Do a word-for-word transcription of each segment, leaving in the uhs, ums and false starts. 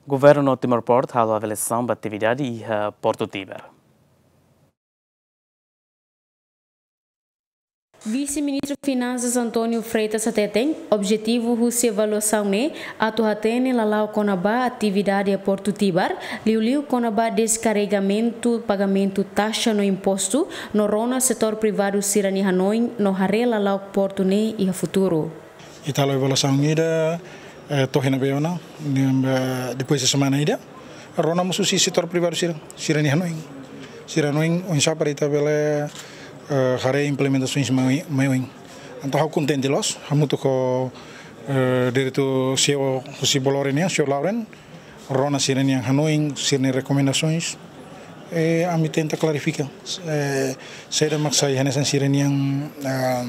Governu no Timor Port halo avaliasaun ba atividade iha Portu Tibar. Vise-Ministru Finansas António Freitas hateten, objetivu husi avaliasaun ne'e atu hatene lala'ok kona-ba atividade iha Portu Tibar, liuliu kona-ba deskarregamentu pagamentu taxa no impostu, no rona setór privadu sira-nia hanoin no haree lala'ok portu ne'e iha futuru. Ita halo avaliasaun ida, eh, to'o iha ne'ebé ona, ne'e, eh, depois de semana ida, rona mós husi setór privadu sira, sira-nia hanoin. Sira-nia hanoin, oinsá para ita bele, eh, haree implementasaun mai, mai oin. Entaun, ha'u kontente loos, hamutuk ho, eh, diretór CEO husi Bolore nian, señór Lauren, rona sira-nia hanoin, sira-nia rekomendasaun. Eh, ami tenta klarifika, eh, saida mak sai hanesan sira-nia, ah,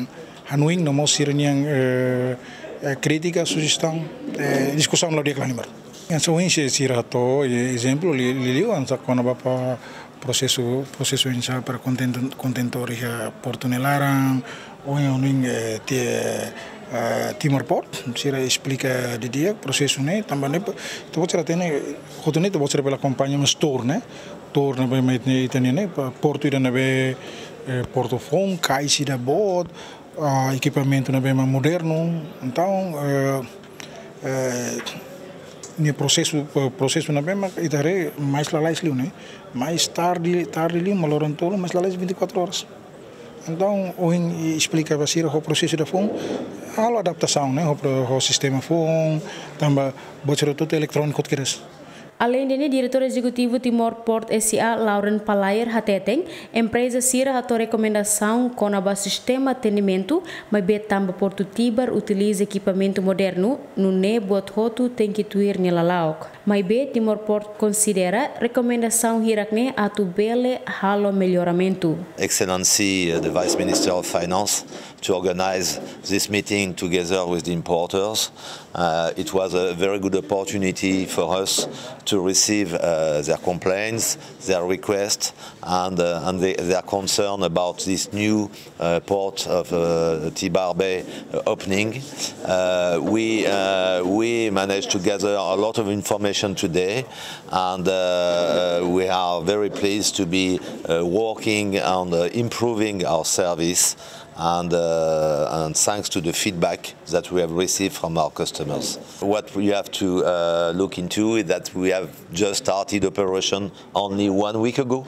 hanoin, no mós sira-nia, eh, eh, krítika, sujestaun, eh, diskusaun la'o di'ak liu halimar. Yang só oinsá sira hato'o, eh, ezemplu, li-, li-, liuliu hanesan kona-ba prosesu, prosesu oinsá para kontentu-, kontentór iha portu nia laran, ohin, ohin, eh, ti-, eh, Timor Port, sira esplika didi'ak prosesu ne'e, tanba ne'e, ita-boot sira hatene, hotu ne'e ita-boot sira bele akompaña mós tour ne'e, tour ne'ebé mak ita-nia ne'e, pa-, portu ida ne'ebé, eh, portu foun, kais ida boot, ah, ekipamentu ne'ebé mak modernu, entaun, eh, eh, nia prosesu, eh, prosesu ne'ebé mak ita haree mais lalais liu ne'e, mais tarde, tarde liu, mak loron tolu, mais lalais vinte e quatro horas. Entaun, ohin esplika ba sira ho prosesu ida foun, halo adaptasaun ne'e, ho pro-, ho sistema foun, tanba buat sira hotu-hotu eletróniku hotu kedas. Aleinde ne'e, Diretór Ezekutivu Timor Port S A, Lauren Palayer, hateten, empreza sira hato'o rekomendasaun kona-ba sistema atendimentu, maibé tanba Portu Tibar utiliza ekipamentu modernu, nune'e buat hotu tenke tuir nia lala'ok. Maibé Timor Port konsidera rekomendasaun hirak ne'e atu bele halo melloramentu. Excellency, uh, the Vice Minister of Finance, to organize this meeting together with the importers. Uh, it was a very good opportunity for us to receive, uh, their complaints, their requests, and, uh, and the, their concern about this new, uh, port of, uh, Tibar Bay, uh, opening. Uh, we, uh, we managed to gather a lot of information today, and, uh, we are very pleased to be, uh, working on, uh, improving our service, and, uh, and thanks to the feedback that we have received from our customers. What you have to, uh, look into is that we have just started operation only one week ago.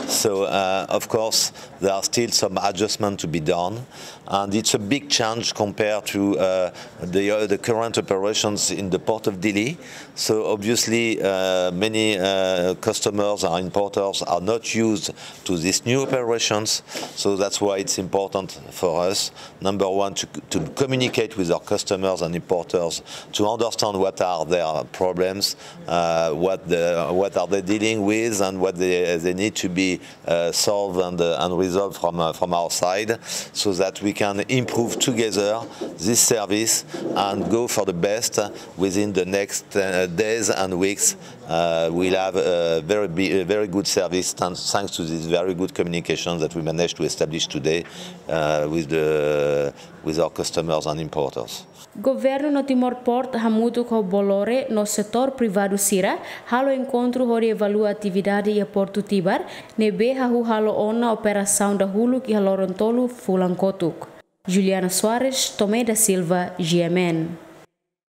So, uh, of course, there are still some adjustments to be done, and it's a big change compared to, uh, the, uh, the current operations in the Port of Dili. So obviously, uh, many, uh, customers or importers are not used to these new operations. So that's why it's important for us, number one, to, to communicate with our customers and importers to understand what are their problems, uh, what the, what are they dealing with, and what they, they need to be, uh, solved and, uh, and resolved from, uh, from our side, so that we can improve together this service and go for the best within the next, uh, days and weeks. Uh, we'll have a very bi-, a very good service, than-, thanks to this very good communication that we managed to establish today, uh, with the, with our customers and importers. Governu no Timor Port hamutuk ho Bolore no setór privadu sira halo enkontru hodi evalua atividade iha Portu Tibar, ne'ebé hahú halo ona operasaun dahuluk iha loron tolu fulan kotuk. Juliana Soares, Tomé da Silva, G M N.